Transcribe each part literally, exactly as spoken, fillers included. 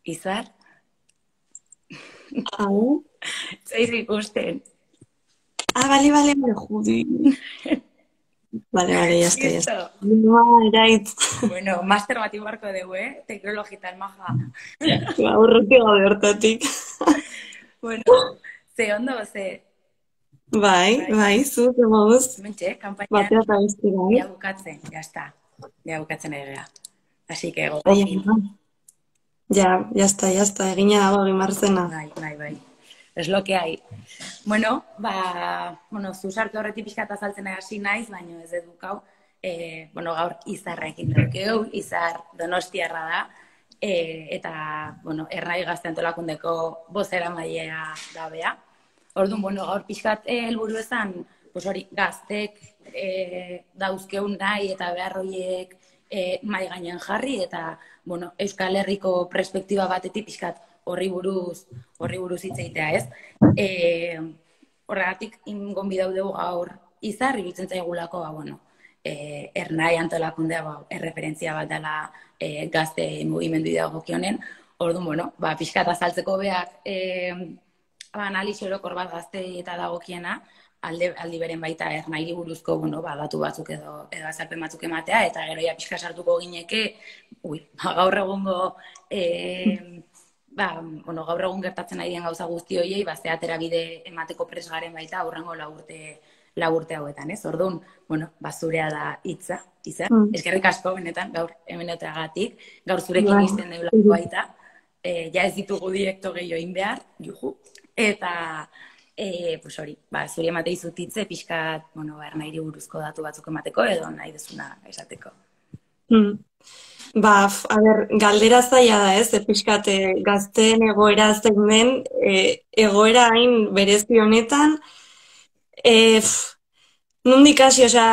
Izar? Hau? Zaiz ikusten. Ah, bale, bale, bale, judi. Bale, bale, ya está, ya está. Listo. No, eraitz. Bueno, master bat ibarko dugu, eh? Teknologitan maja. Ba, urruti gabe hortatik. Bueno, ze ondo, ze... Bai, bai, zu, ze moduz. Mentxe, kampaina Batea eta beste bai. ya bukatzen, ya está. Ya bukatzen egea. Así que Ai, gogofin. ja, ya está, ya está, egina dago egin marzena. Bai, bai, bai. Es lo que hay. Bueno, ba, bueno, zu sartu horretik pixka eta azaltzen hasi naiz, baina ez edukau. Eh, bueno, gaur Izarrekin daukeu, Izar Donostiarra da, eh, eta, bueno, Ernai Gazte Antolakundeko bozera mailea da bea. Orduan, bueno, gaur pixkat helburu ezan, pues hori, gaztek eh, dauzkeun nahi eta behar horiek eh, mai gainen jarri, eta, bueno, Euskal Herriko perspektiba batetik pixkat horri buruz, horri buruz hitz egitea, ez? Eh, horregatik, ingonbidau dugu gaur Izar, iruditzen zaigulako, ba, bueno, eh, Ernai Antolakundea ba, erreferentzia bat dela eh, gazte mugimendu dagokionen. Orduan, bueno, ba, pixkat azaltzeko beak eh, analiz orokor bat gazte eta dagokiena, alde, aldi beren baita Ernairi buruzko, bueno, ba, datu batzuk edo, edo azalpen batzuk ematea, eta gero ja pixka sartuko gineke, ui, ba, gaur egungo, eh, ba, bueno, gaur egun gertatzen ari den gauza guzti horiei, ba, ze atera bide emateko presgaren baita aurrengo lau urte, lau urte hauetan, ez? Orduan, bueno, ba, zurea da hitza, Izar. Mm. Eskerrik asko, benetan, gaur hemenotagatik, gaur zurekin Bai. izten deulako baita, eh, ja ez ditugu direkto gehiago egin behar, juhu, eta, eh, pues hori, ba, zuri ematei zutitze, pixkat, bueno, ba, Ernairi buruzko datu batzuk emateko, edo nahi duzuna esateko. Mm. Ba, f- a ber, galdera zaila da, ez? E, pixkat, e, gazteen egoera zein den, e, egoera hain berezi honetan, e, f, nondik hasi, osea,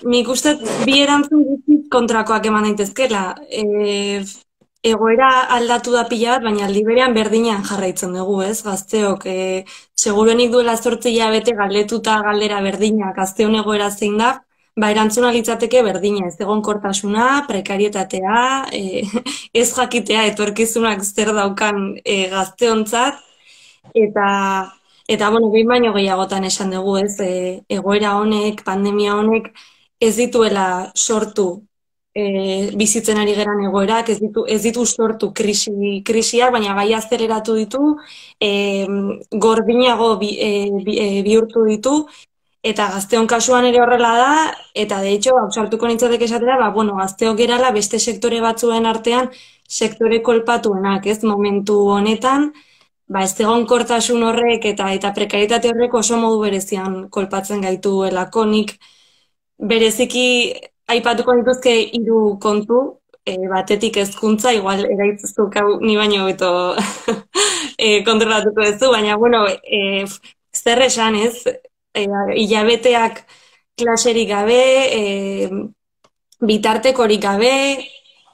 nik uste bi erantzun guztiz kontrakoak eman daitezkela. E, f, egoera aldatu da pila bat, baina aldi berean berdinean jarraitzen dugu, ez? Gazteok, e, seguruenik duela zortzi hilabete galdetuta galdera berdina, gazteon egoera zein da, ba, erantzuna litzateke berdina, ez egonkortasuna, prekarietatea, e, ez jakitea etorkizunak zer daukan e, gazteontzat, eta, eta bueno, behin baino gehiagotan esan dugu, ez, e, egoera honek, pandemia honek, ez dituela sortu e, bizitzen ari geran egoerak, ez ditu, ez ditu sortu krisi, krisiak, baina bai azeleratu ditu, e, gordinago bi, e, bi, e, bihurtu ditu, eta gazteon kasuan ere horrela da, eta de hecho, ausartuko nintzateke esatera, ba, bueno, gazteok gerala beste sektore batzuen artean sektore kolpatuenak, ez, momentu honetan, ba, ez egonkortasun horrek eta eta prekarietate horrek oso modu berezian kolpatzen gaituelako. Nik bereziki aipatuko dituzke hiru kontu, e, batetik hezkuntza, igual eraitzuzuk hau ni baino beto e, kontrolatuko duzu, baina, bueno, e, zer esan, ez? E, hilabeteak klaserik gabe, e, bitartekorik gabe,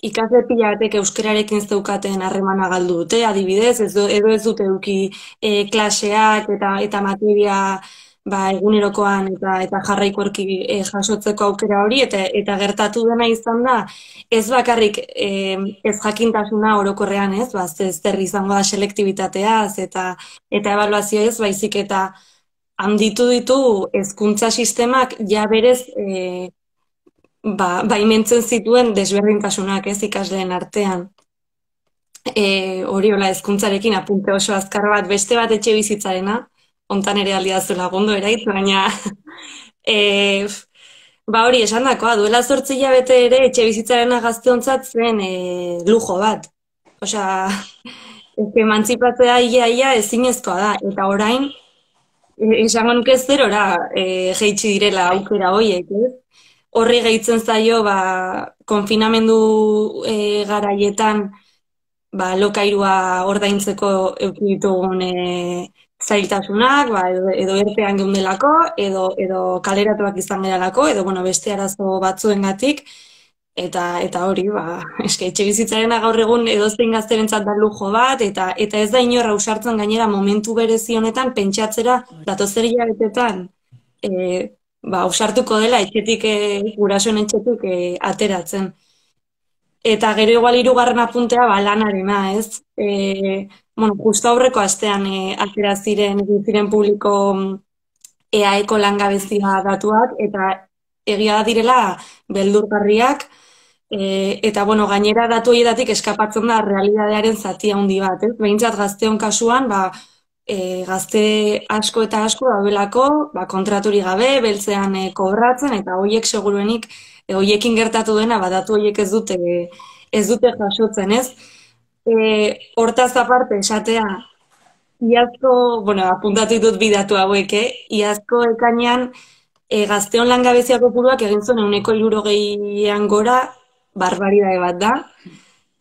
ikasle pila batek euskararekin zeukaten harremana galdu dute, adibidez, ez, du- edo ez dute eduki e, klaseak eta eta materia ba, egunerokoan eta eta jarraikorki e, jasotzeko aukera hori, eta eta gertatu dena izan da, ez bakarrik e, ez jakintasuna orokorrean, ez, ba, ez zer izango da selektibitateaz eta eta ebaluazioez, baizik eta handitu ditu hezkuntza sistemak ja berez e, ba, baimentzen zituen desberdintasunak, ez, ikasleen artean. E, hori hola hezkuntzarekin apunte oso azkar bat, beste bat etxe bizitzarena, hontan ere aldiazu lagundu eraitz, baina e, ba hori esan dakoa, duela zortzi hilabete ere etxe bizitzarena gazteontzat zen e, lujo bat. Osea, ez emantzipatzea ia-ia ezinezkoa da, eta orain, e, esango nuke zerora e, jaitsi direla aukera horiek, ez? Horri gehitzen zaio, ba, konfinamendu e, garaietan, ba, lokairua ordaintzeko eduki ditugun e, zailtasunak, ba, edo, edo erpean geundelako, edo, edo kaleratuak izan geralako, edo, bueno, beste arazo batzuengatik, eta eta hori, ba, eske etxe bizitzarena gaur egun edozein gazterentzat da lujo bat, eta eta ez da inor ausartzen gainera momentu berezi honetan pentsatzera datozer hilabetetan e, ba, ausartuko dela etxetik, e, gurasoen etxetik e, ateratzen. Eta gero igual hirugarren apuntea ba, lanarena, ez? E, bueno, justo aurreko astean e, atera ziren, egin ziren publiko E A Eko langabezia datuak, eta egia direla beldurgarriak, e, eta bueno, gainera datu horietatik eskapatzen da realidadearen zati handi bat, ez? Behintzat gazteon kasuan, ba, e, gazte asko eta asko daudelako, ba, kontraturi gabe, beltzean e, kobratzen, eta hoiek seguruenik, e, hoiekin gertatu dena, ba, datu hoiek ez dute, ez dute jasotzen, ez? E, hortaz aparte, esatea, iazko, bueno, apuntatu ditut bidatu hauek, eh? Iazko ekainean e, gazteon langabezia kopuruak egin zuen ehuneko hirurogeian gora, barbaridade bat da.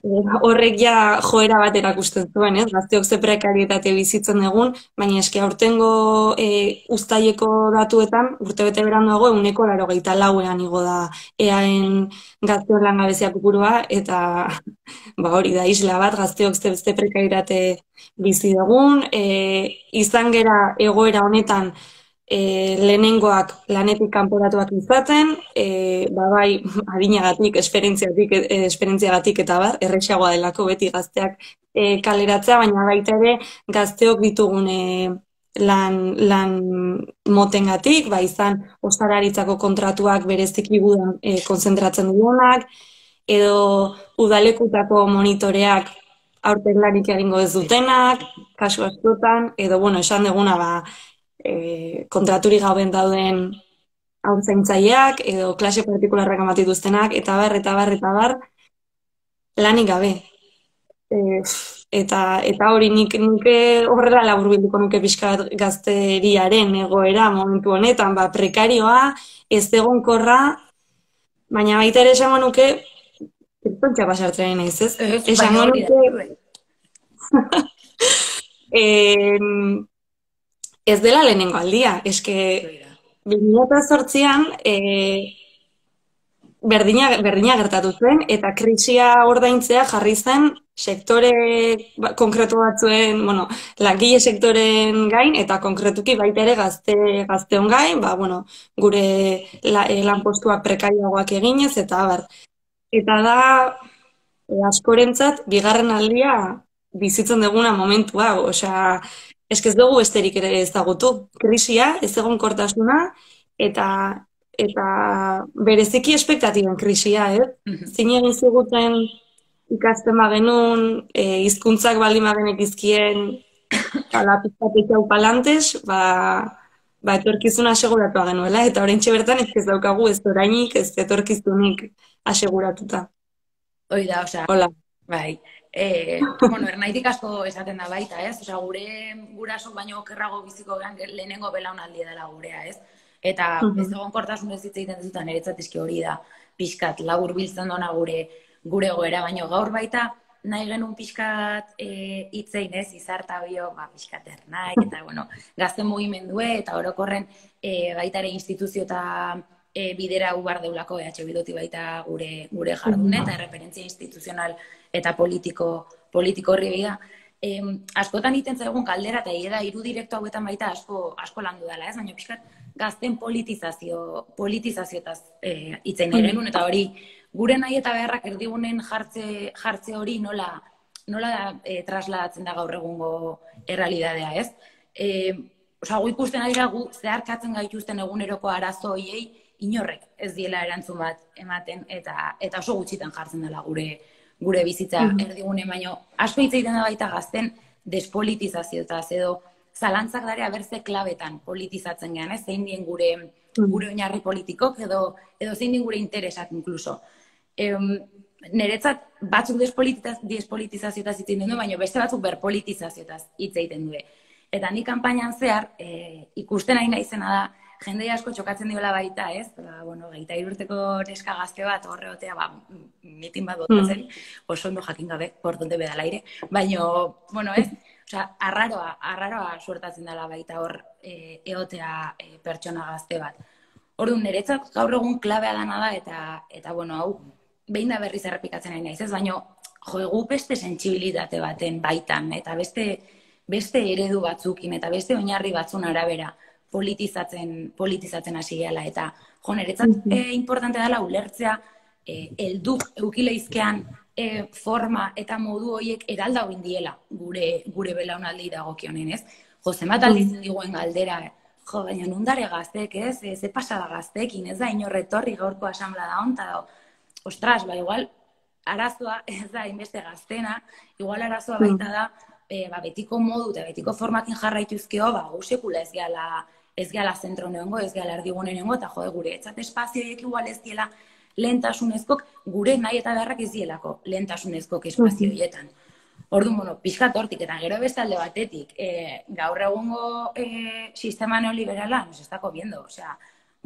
E, horrek ja joera bat erakusten zuen, ez? Gazteok ze prekarietate bizitzen egun, baina eske aurtengo e, uztaileko datuetan, urtebete beranduago ehuneko laurogeita lauean igo da eaen gazteon langabezia kopurua, eta ba hori da isla bat, gazteok ze beste prekarietate bizi dugun, e, izan gera egoera honetan e, lehenengoak lanetik kanporatuak izaten, e, ba bai adinagatik, esperientziatik, e, esperientziagatik eta bar, erresagoa delako beti gazteak e, kaleratzea, baina baita ere gazteok ditugun e, lan, lan motengatik, ba izan ostalaritzako kontratuak bereziki gudan e, konzentratzen duenak, edo udalekutako monitoreak aurten lanik egingo ez dutenak, kasu askotan, edo, bueno, esan deguna, ba, e, kontraturi gauen dauden haurtzaintzaileak, edo klase partikularrak amatituztenak, eta bar, eta bar, eta bar, lanik gabe. E, eta, eta hori nik, nik horrela laburbilduko nuke pixka gazteriaren egoera momentu honetan, ba, prekarioa, ez egonkorra, baina baita ere esango nuke, Tontxa pasartzen naiz, ez? Esango nuke... eh, ez dela lehenengo aldia. Eske, bi mila zortzian eh, berdina, berdina gertatu zen, eta krisia ordaintzea jarri zen sektore konkretu batzuen, bueno, langile sektoren gain, eta konkretuki baita ere gazte, gazteon gain, ba, bueno, gure la, lanpostuak prekarioagoak eginez, eta bar. Eta da, e, askorentzat, bigarren aldia bizitzen duguna momentu hau. Osea, eskez dugu besterik ere ezagutu. Krisia, ez egonkortasuna, eta eta bereziki espektatiben krisia, eh? Zin egin ziguten ikasten bagenun, e, hizkuntzak baldin bagenek izkien, ala pizkatek hau palantes, ba, ba etorkizuna aseguratua genuela, eta oraintxe bertan ez ez daukagu ez orainik, ez etorkizunik aseguratuta. Hoi da, osea, hola. Bai, e, bueno, ernaitik asko esaten da baita, ez? Osea, gure guraso baino okerrago biziko gean lehenengo belaunaldi dela gurea, ez? Eta uh-huh. ez egonkortasun ez hitz egiten dutan niretzat eski hori da pixkat labur biltzen dona gure gure goera, baino gaur baita nahi genuen pixkat hitzein e, ez, izarta bio, ba, pixkat ernaik, eta bueno, gazten mugimendue, eta orokorren e, baita ere instituzio eta e, bidera ubar deulako E H Bildoti baita gure, gure jardune, eta referentzia instituzional eta politiko, politiko horri bida. E, askotan iten zaigun kaldera, eta hieda hiru direkto hauetan baita asko, asko landu dela, ez? Baina pixkat gazten politizazio, politizazioetaz e, itzein nahi genuen, eta hori gure nahi eta beharrak erdigunen jartze, jartze hori nola, nola e, trasladatzen da gaur egungo errealidadea, ez? E, Osa, gu ikusten ari gu zeharkatzen gaituzten eguneroko arazo hoiei inorrek ez diela erantzun bat ematen, eta, eta oso gutxitan jartzen dela gure gure bizitza mm-hmm. erdigune, baino asko hitz egiten da baita gazten despolitizazioetaz, edo zalantzak darea berze klabetan politizatzen gean, ez? Zein dien gure, gure oinarri politikok, edo, edo zein dien gure interesak inkluso. Em, Neretzat batzuk despolitizazioetaz hitz egiten du, baina beste batzuk berpolitizazioetaz hitz egiten du. Eta ni kanpainan zehar, e, ikusten ari naizena da, jende asko txokatzen diola baita, ez? Ba, bueno, geita irurteko neska gazte bat horreotea, ba, mitin bat botatzen, oso ondo jakin gabe, por donde beda laire, baina, bueno, ez? Osea, arraroa, arraroa suertatzen dela baita hor e, eotea e, pertsona gazte bat. Orduan, niretzat gaur egun klabea dana da, eta, eta bueno, hau, behin da berriz errepikatzen ari naiz, ez? Baina, jo, egu beste sentsibilitate baten baitan, eta beste, beste eredu batzukin, eta beste oinarri batzun arabera, politizatzen, politizatzen hasi gehala, eta jo, niretzat mm-hmm. e, importante dela ulertzea e, elduk eukileizkean e, forma eta modu horiek eralda hori diela gure, gure belaunaldi dagokionen, ez? Jo, zenbat aldiz diguen galdera, jo, baina nundare gaztek, ez? E, ze pasada gaztekin, ez da, inorretorri gaurko asamblea da honta da, ostras, ba, igual, arazoa, ez da, inbeste gaztena, igual arazoa baita da, e, ba, betiko modu eta betiko formakin jarraituzkeo, ba, gu sekula ez gehala, ez gehala zentro neongo, ez gehala erdigune neongo, eta jode, gure etxat espazioiek igual ez diela lehentasunezkok, gure nahi eta beharrak ez dielako lehentasunezkok espazioietan. Orduan, bueno, pixkat hortik, eta gero beste alde batetik, e, gaur egungo e, sistema neoliberala, nos estako biendo, osea,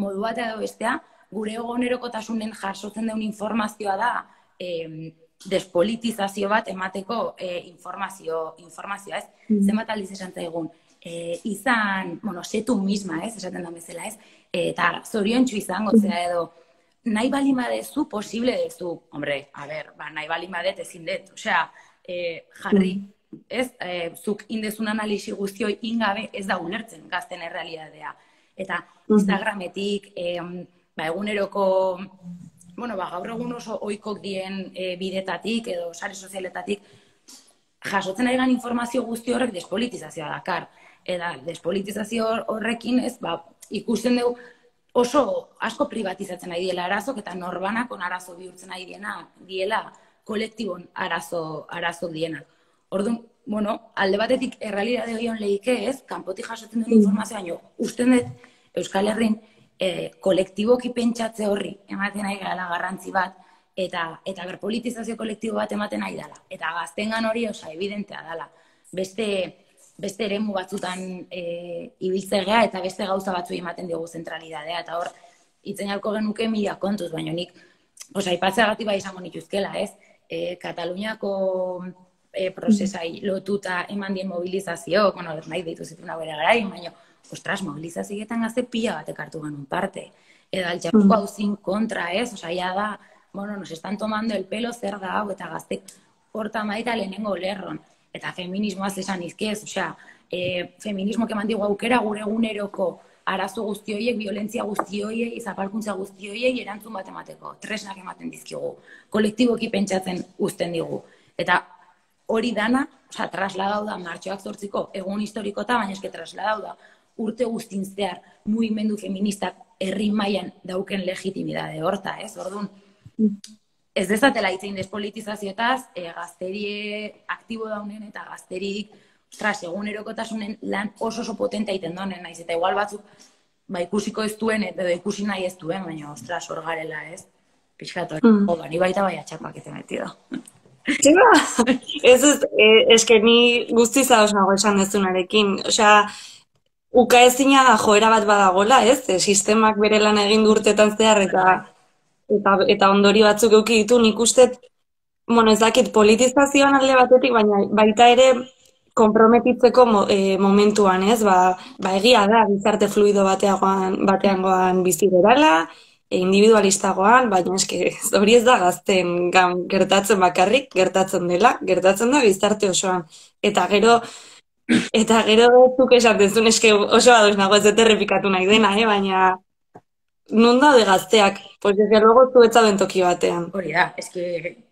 modu bat edo bestea, gure egonerokotasunen jasotzen deun informazioa da, e, despolitizazio bat emateko e, informazio, informazioa, ez? Mm. Zenbat aldiz esan zaigun, e, izan, bueno, setu misma, ez? Esaten da bezala, ez? E, eta zoriontsu izango, zera edo, nahi bali badezu, posible dezu. Hombre, a ber, ba, nahi bali badet ezin dut. Osea, e, jarri, ez? E, zuk indezun analisi guztioi ingabe ez da ulertzen gazten errealitatea. Eta Instagrametik, e, ba, eguneroko, bueno, ba, gaur egun oso oikok dien e, bidetatik edo sare sozialetatik, jasotzen ari gan informazio guzti horrek despolitizazioa dakar. Eta despolitizazio horrekin, ez, ba, ikusten dugu, oso asko privatizatzen ari diela arazok eta norbanakon arazo bihurtzen ari diena, diela kolektibon arazo, arazo dienak. Orduan, bueno, alde batetik errealitate horion lehike ez, kanpotik jasotzen duen informazioa, baino, usten dut Euskal Herrin e, kolektiboki pentsatze horri ematen ari gara garrantzi bat, eta, eta berpolitizazio kolektibo bat ematen ari dela. Eta gaztengan hori, osa, evidentea dela. Beste... beste eremu batzutan e, ibiltzegea eta beste gauza batzu ematen diogu zentralidadea. Eta hor, itzen jalko genuke mila kontuz, baina nik, osa, ipatzeagatik bai izango nituzkela, ez? E, Kataluniako e, prozesai lotuta eman dien mobilizazio, bueno, nahi ditu zituna bere garain, baina, ostras, mobilizazioetan gazte pila batek hartu genuen parte. Eta altxapuko hauzin kontra, ez? Osa, ya da, bueno, nos están tomando el pelo zer da hau, eta gaztek horta maita lehenengo lerron. Eta feminismoaz esan izkiez, osea, e, feminismo keman digu aukera gure eguneroko arazo guzti horiek, violentzia guzti horiek, zapalkuntza guzti horiek, erantzun bat emateko, tresnak ematen dizkigu, kolektiboki pentsatzen uzten digu. Eta hori dana, osea, trasladau da martxoak zortziko egun historikota, baina eske trasladau da urte guztin zehar mugimendu feministak herri mailan dauken legitimidade horta, ez? Orduan, ez dezatela itzein despolitizazioetaz, e, gazterie aktibo daunen eta gazterik, ostras, egunerokotasunen lan oso oso potentea iten donen, naiz, eta igual batzuk, ba, ikusiko ez duen, edo ikusi nahi ez duen, baina, ostras, hor garela, ez? Pixkat hori, mm. Oda, ni baita bai atxapak eten metido. Txema, ez ez, eske ni guztiz ados nago esan dezunarekin, osea, uka ezina da joera bat badagola, ez? E, sistemak bere lan egin urtetan zehar eta Eta, eta ondori batzuk euki ditu, nik uste, bueno, ez dakit politizazioan alde batetik, baina baita ere konprometitzeko mo, e, momentuan, ez? Ba, ba egia da, gizarte fluido bateagoan, bateangoan bizi berala, e, individualistagoan, baina eske hori ez da gazten gan gertatzen bakarrik, gertatzen dela, gertatzen da gizarte osoan. Eta gero, eta gero zuk esaten eske oso ados nago ez dut errepikatu nahi dena, eh? Baina non daude gazteak? Pues desde luego zuetza bentoki batean. Hori da, eske...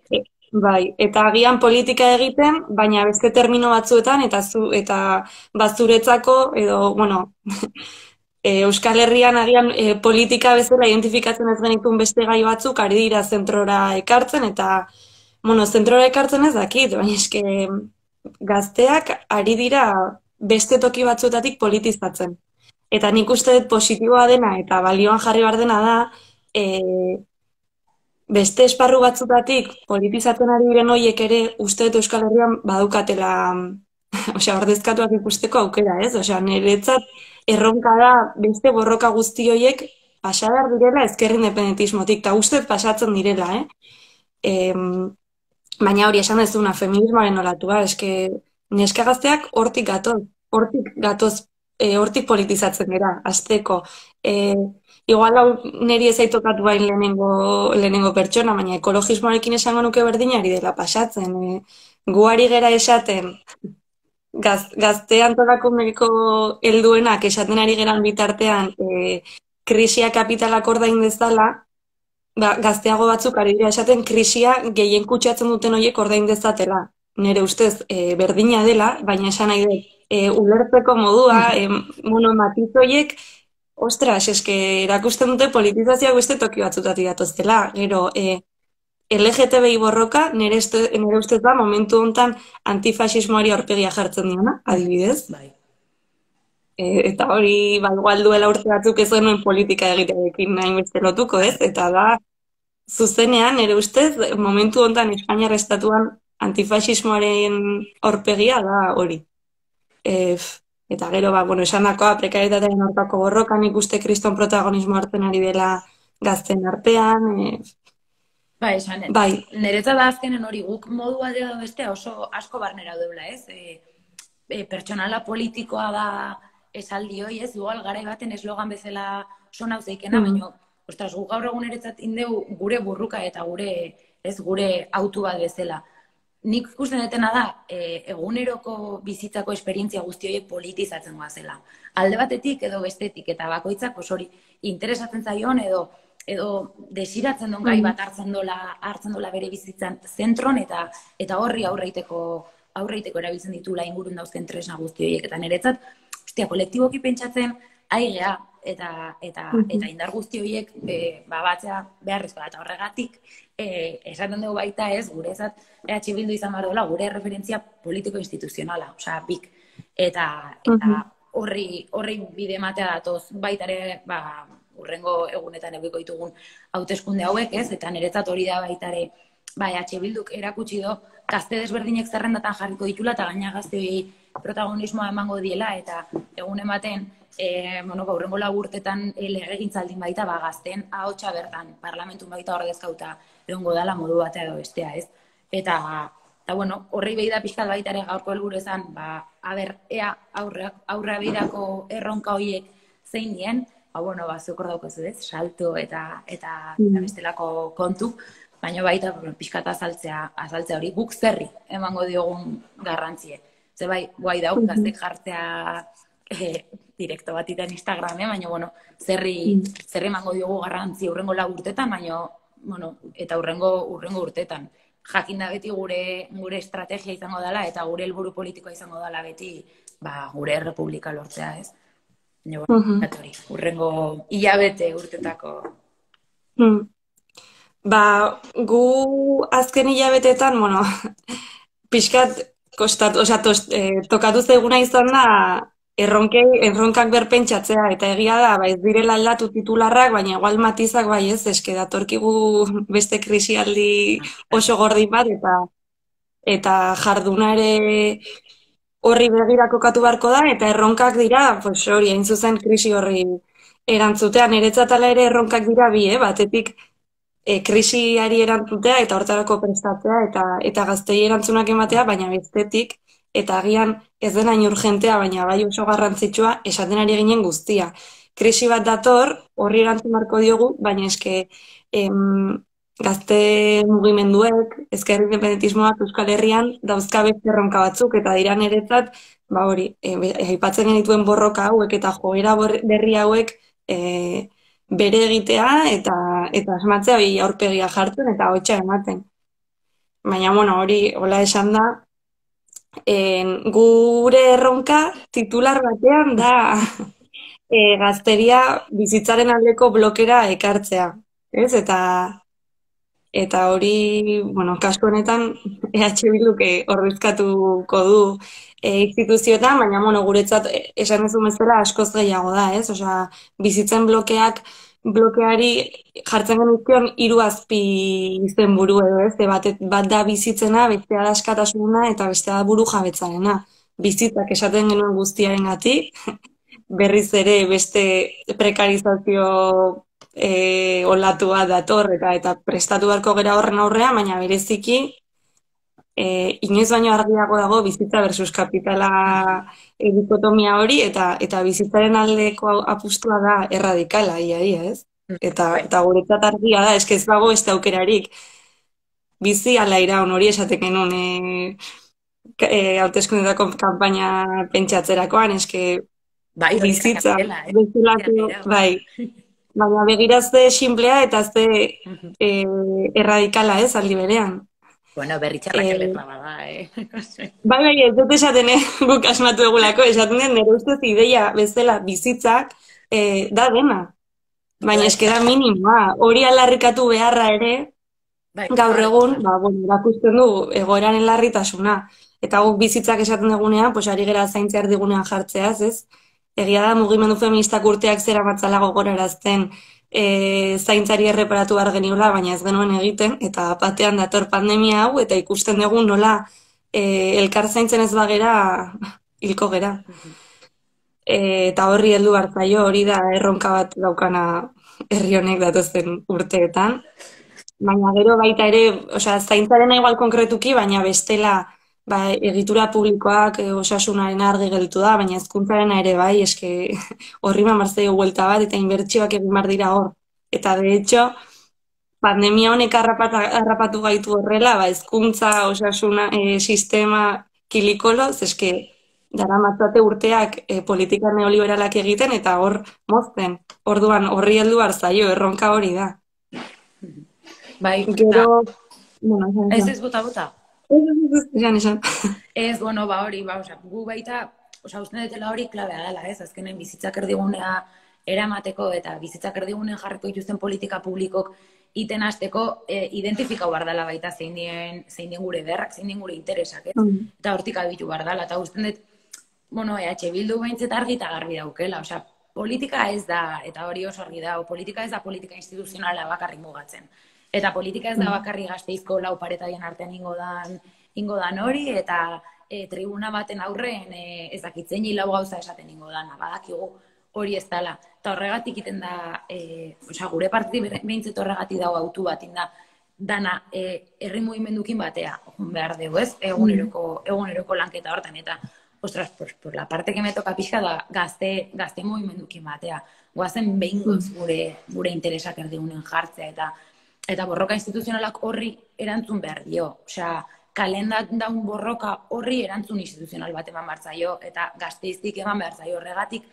E, bai, eta agian politika egiten, baina beste termino batzuetan, eta zu, eta bazuretzako, edo, bueno, e, Euskal Herrian agian e, politika bezala identifikatzen ez genitun beste gai batzuk, ari dira zentrora ekartzen, eta, bueno, zentrora ekartzen ez dakit, baina eske gazteak ari dira beste toki batzuetatik politizatzen. Eta nik uste dut positiboa dena eta balioan jarri behar dena da, e, beste esparru batzutatik politizatzen ari diren horiek ere uste dut Euskal Herrian badukatela, osea, ordezkatuak ikusteko aukera, ez? Osea, niretzat erronka da beste borroka guzti horiek pasa behar direla ezker independentismotik, eta uste dut pasatzen direla, eh? E, baina hori esan dezuna, feminismoaren olatua, eske neska gazteak hortik gatoz, hortik gatoz, E, hortik politizatzen gara, azteko. E, igual hau niri ez aitokatu bain lehenengo, lehenengo pertsona, baina ekologismoarekin esango nuke berdinari dela pasatzen. E, guari gera esaten, gaz, gazte antolakuneko helduenak esaten ari geran bitartean, e, krisia kapitalak ordain dezala, ba, gazteago batzuk ari dira esaten krisia gehien kutsatzen duten horiek ordain dezatela. Nire ustez e, berdina dela, baina esan nahi dut, e, ulertzeko modua, e, bueno, matiz horiek, ostras, eske erakusten dute politizazioa beste toki batzutatik datoztela. Gero, e, L G T B I borroka, nire, este, nire ustez da, momentu honetan antifasismoari aurpegia jartzen diona, adibidez. Bai. E, eta hori, ba, igual duela urte batzuk ez genuen politika egitearekin nahi beste lotuko, ez? Eta da, zuzenean, nire ustez, momentu honetan Espainiar estatuan antifasismoaren aurpegia da hori. E, eta gero, ba, bueno, esan dakoa, prekarietatearen aurkako borrokan ikuste kriston protagonismo hartzen ari dela gazten artean. E, Ba, esan, bai. niretzat da azkenen hori guk modu bat edo bestea oso asko barnera deula, ez? E, e, pertsonala politikoa da esaldi hoi, ez? Igual garai baten eslogan bezala son hau zeikena, mm. baina, ostras, guk gaur egun niretzat indeu gure burruka eta gure, ez, gure autu bat bezala. Nik ikusten detena da, e, eguneroko bizitzako esperientzia guzti horiek politizatzen goazela. Alde batetik edo bestetik, eta bakoitzak, pues hori, interesatzen zaion edo edo desiratzen duen gai bat hartzen dola, hartzen dola bere bizitzan zentron, eta eta horri aurreiteko aurreiteko erabiltzen ditula ingurun dauzken tresna guzti horiek. Eta niretzat, ostia, kolektiboki pentsatzen, aigea, eta, eta, eta indar guzti horiek e, ba, batzea beharrezkoa. Eta horregatik, e, esaten dugu baita ez, gure ezat, E H Bildu izan behar dola, gure referentzia politiko-instituzionala, osea, bik. Eta, eta horri, horri bide matea datoz baitare, ba, urrengo egunetan eguiko ditugun hauteskunde hauek, ez? Eta niretzat hori da baitare, ba, E H Bilduk erakutsi do, gazte desberdinek zerrendatan jarriko ditula, eta gaina gazte hori protagonismoa emango diela, eta egun ematen, e, bueno, ba, urrengo laburtetan e, legegintzaldin baita, ba, gazten ahotsa bertan, parlamentun baita ordezkauta egongo dala modu batea edo bestea, ez? Eta, eta bueno, horri behi da pixkat baita ere gaurko helburu ezan, ba, aber, ea aurra, aurra birako erronka horiek zein dien, ba, bueno, ba, zukor daukozu ez, salto eta, eta, eta bestelako kontu, baina baita pixkat azaltzea, azaltzea hori guk zerri emango diogun garrantzie. Ze bai, guai dauk, gaztek jartzea e, direkto bat iten Instagramen, baina, bueno, zerri, zerri emango diogu garrantzi urrengo lau urtetan, baina, bueno, eta urrengo, urrengo urtetan. Jakin da beti gure, gure estrategia izango dela, eta gure helburu politikoa izango dela beti, ba, gure republika lortzea, ez? Baina, bueno, uh-huh. urrengo hilabete urtetako. Hmm. Ba, gu azken hilabetetan, bueno, pixkat kostatu, osea, eh, tokatu zeguna izan da erronkei, erronkak berpentsatzea, eta egia da, ba, ez direla aldatu titularrak, baina igual matizak bai ez, eske datorkigu beste krisialdi oso gordin bat, eta eta jarduna ere horri begira kokatu beharko da, eta erronkak dira, pues hori, hain zuzen krisi horri erantzutean, niretzat ala ere erronkak dira bi, eh? Batetik e, krisiari erantzutea eta hortarako prestatzea, eta, eta gaztei erantzunak ematea, baina bestetik, eta agian ez den hain urgentea, baina bai oso garrantzitsua, esaten ari ginen guztia. Krisi bat dator, horri erantzun marko diogu, baina eske em, gazte mugimenduek, ezker independentismoak Euskal Herrian dauzka beste erronka batzuk, eta dira niretzat, ba hori, e, aipatzen genituen borroka hauek eta joera berri hauek e, bere egitea eta eta asmatzea bi aurpegia jartzen eta hotxa ematen. Baina, bueno, hori, hola esan da, en, gure erronka titular batean da e, gazteria bizitzaren aldeko blokera ekartzea, ez? Eta eta hori, bueno, kasu honetan E H Bilduk ordezkatuko du e, instituzioetan, baina, bueno, guretzat esan ez du bezala askoz gehiago da, ez? Osea, bizitzen blokeak blokeari jartzen genizkion hiru azpi izenburu edo, ez? Bat, bat da bizitzena, bestea da askatasuna eta bestea da buru jabetzarena. Bizitzak esaten genuen guztiarengatik, berriz ere beste prekarizazio e, olatu bat dator eta eta prestatu beharko gera horren aurrea, baina bereziki e, inoiz baino argiago dago bizitza versus kapitala e, dikotomia hori, eta eta bizitzaren aldeko apustua da erradikala, ia, ia, ez? Eta, eta guretzat argia da, eske ez dago ez aukerarik. Bizi ala iraun hori esaten genuen e, e, hauteskundetako kanpaina pentsatzerakoan, eske bai, bizitza, bezalako, bai, baina begirazte simplea eta ze eh, erradikala ez aldi berean. Bueno, berritxarrak Eh, ederra bada, eh? bai, bai, ez dut esaten, eh, guk asmatu egulako, esaten den nire ustez ideia bezala bizitzak eh, da dena. Baina Bai, eske da minimoa, hori alarrikatu beharra ere, bai, gaur hor, egun, hor. ba, bueno, erakusten du egoeraren larritasuna. Eta guk bizitzak esaten dugunean, pues ari gera zaintza erdigunean jartzeaz, ez? Egia da mugimendu feministak urteak zera matzala gogorarazten e, zaintzari erreparatu behar geniola, baina ez genuen egiten, eta batean dator pandemia hau, eta ikusten dugu nola e, elkar zaintzen ez bagera hilko gera. E, eta horri heldu hartzaio, hori da erronka bat daukana herri honek datozen urteetan. Baina gero baita ere, osea, zaintzarena igual konkretuki, baina bestela ba, egitura publikoak e, osasunaren argi gelditu da, baina hezkuntzarena ere bai, eske horri mamartzea buelta bat, eta inbertsioak egin behar dira hor. Eta de hecho, pandemia honek harrapata, harrapatu gaitu horrela, ba, hezkuntza, osasuna, e, sistema kilikoloz, eske dara matzate urteak e, politika neoliberalak egiten, eta hor mozten. Orduan, horri heldu hartzaio, erronka hori da. Bai, eta, Gero, bueno, esan, ez esan. ez bota bota. Ez, ez, ez, esan, esan. Ez, bueno, ba hori, ba, osea, gu baita, osea, uste dutela hori klabea dela, ez? Azkenen bizitzak erdigunea eramateko eta bizitzak erdigunean jarriko dituzten politika publikok iten hasteko e, identifikau behar dela baita zein dien, zein dien gure berrak, zein dien gure interesak, ez? Mm. Eta hortik abitu behar dela, eta uste dut, bueno, E H Bildu behintzet argi eta garbi daukela, osea, politika ez da, eta hori oso argi da, politika ez da politika instituzionala bakarrik mugatzen. Eta politika ez da bakarri Gasteizko lau paretadien artean ingo dan, ingo dan hori, eta e, tribuna baten aurren e, ez dakitzen lau gauza esaten ingo dana, badakigu hori ez dela. Eta horregatik iten da, e, osea, gure partiti behintzet horregatik dago autu bat, inda, dana e, herri mugimendukin batea, on behar dugu, ez? Eguneroko, eguneroko lanketa hortan, eta ostras, pues, por la parte que me toca pixka da gazte, gazte mugimendukin batea. Goazen behingoz gure, gure interesak erdigunen jartzea, eta Eta borroka instituzionalak horri erantzun behar dio. Osea, kalendat daun borroka horri erantzun instituzional bat eman behar zaio, eta Gasteiztik eman behar zaio. Horregatik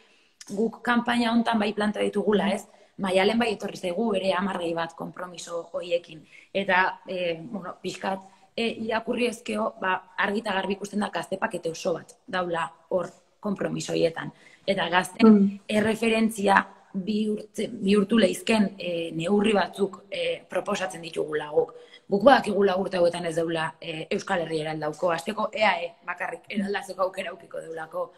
guk kanpaina hontan bai planta ditugula, ez? Maialen bai etorri zaigu ere amargei bat konpromiso hoiekin. Eta, e, bueno, pixkat, e, irakurri ezkeo, ba, argita garbi ikusten da gazte pakete oso bat daula hor konpromiso hoietan. Eta gazten Mm. erreferentzia bihurtu lehizken e, neurri batzuk e, proposatzen ditugula guk. Guk badakigula urte hauetan ez deula e, Euskal Herri eraldauko, azteko E A E bakarrik eraldazeko aukera aukiko deulako.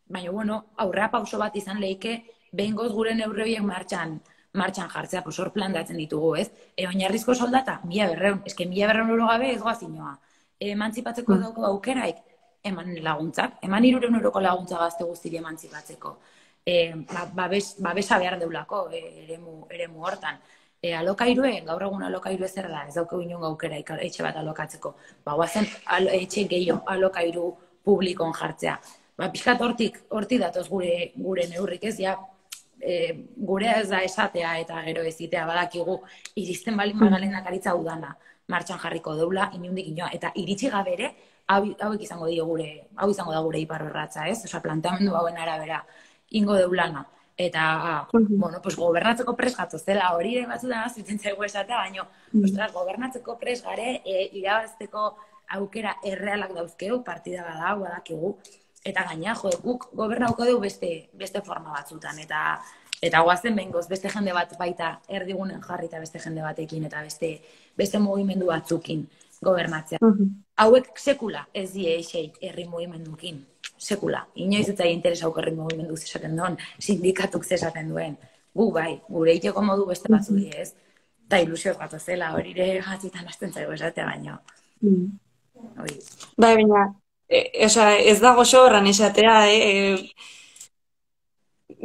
Baina, bueno, aurrera pauso bat izan lehike, behingoz gure neurri horiek martxan, martxan jartzea, pues hor plantatzen ditugu, ez? E, oinarrizko soldata, mila berreun, eske mila berreun euro gabe ez goazinoa. E, emantzipatzeko dauko aukeraik, eman laguntzak, eman hirureun euroko laguntza gazte guztiri emantzipatzeko. E, ba, babes, babesa behar deulako e, eremu, eremu hortan. E, alokairue, gaur egun alokairue zer da, ez dauko inun aukera etxe bat alokatzeko. Ba, guazen al, etxe gehiago alokairu publikon jartzea. Ba, pixkat hortik, hortik datoz gure, gure neurrik ez, ja, e, gure ez da esatea eta gero ezitea badakigu iristen balin magalenak aritza udana martxan jarriko deula, inundik inoa, eta iritsi gabere, hau, hauek izango dio gure, hau izango da gure iparrorratza, ez? Osa, planteamendu hauen arabera, ingo deulana. Eta, bueno, pues gobernatzeko pres gatzo zela hori ere batzutan azitzen zaigu esatea, baina, ostras, gobernatzeko pres gare, e, irabazteko aukera errealak dauzkeu, partida bada, badakigu, eta gaina, jo, guk gobernauko dugu beste, beste forma batzutan, eta eta guazen behingoz, beste jende bat baita erdigunen jarri eta beste jende batekin, eta beste, beste mugimendu batzukin gobernatzea. Hauek sekula ez die eixei herri mugimendukin. Sekula. Inoiz ez zaie interesa herri mugimendu zesaten duen, sindikatuk zesaten duen. Gu bai, gure iteko modu beste batzu die ez. Eta ilusioz bat zela, hori ere gatzitan hasten zaigu esatea baino. Mm. Hori. Bai, baina, e, oza, ez dago horran esatea, eh? E,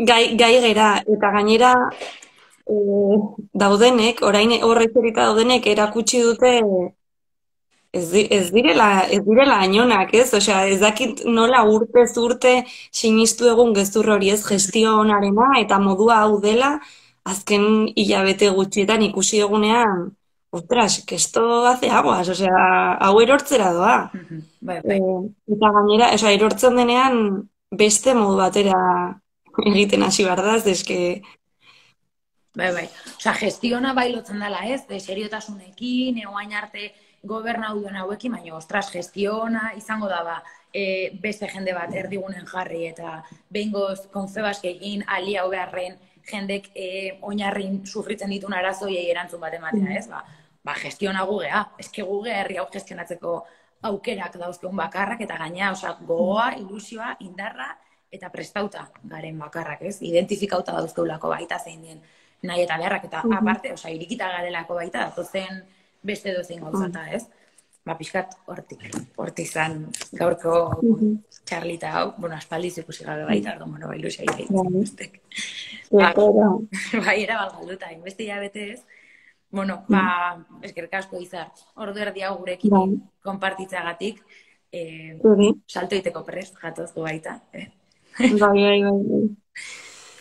gai, gai gera, eta gainera e, daudenek, orain horretzerita daudenek erakutsi dute Ez, di, ez direla, ez direla ainonak, ez? Osea, ez dakit nola urtez urte sinistu egun gezur hori ez gestio onarena eta modua hau dela azken hilabete gutxietan ikusi egunean, ostras, que esto hace aguas, osea, hau erortzera doa. Bai, bai. E, eta gainera, osea, erortzen denean beste modu batera egiten hasi behar da, eske Bai, bai. Osa, gestiona bai lotzen dela, ez? De seriotasunekin, egoain arte gobernau duen hauekin, baina, ostras, gestiona izango da ba, e, beste jende bat erdigunen jarri eta behingoz konfebaskekin ali hau beharren jendek e, oinarrin sufritzen ditun arazoiei erantzun bat ematea, ez? Ba, ba gestiona gugea. Eske guge herri hau gestionatzeko aukerak dauzkeun bakarrak eta gaina, osea, gogoa, ilusioa, indarra eta prestauta garen bakarrak, ez? Identifikauta dauzkeulako baita zein den nahi eta beharrak, eta aparte, osea, irikita garelako baita, datozen beste dozein gauzata, ez? Ba, pixkat hortik, hortik izan gaurko txarlita hau, bueno, aspaldiz ikusi gabe baita, orduan, bueno, ilusia egiten. Ba, bai, era balgalduta, inbeste hilabete ez, bueno, ba, eskerrik asko izar, ordu erdi hau gurekin konpartitzagatik, salto iteko prest, jatozko baita, eh? Bai, bai, bai.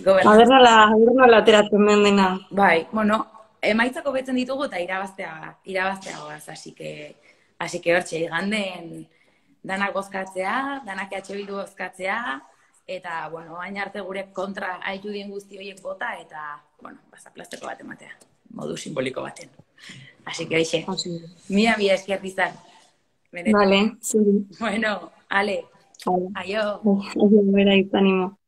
Aber nola, aber nola ateratzen den dena. Bai, bueno, emaitzako betzen ditugu eta irabaztea, irabaztea goaz, así que, así que hortxe, iganden danak bozkatzea, danak H Bildu bozkatzea, eta, bueno, hain arte gure kontra haitu dien guzti horiek bota, eta, bueno, bazaplasteko bat ematea, modu simboliko baten. Así que, hoxe, mila, mila esker izan. Vale, zuri. Bueno, ale, vale. aio. Aio, bera izanimo.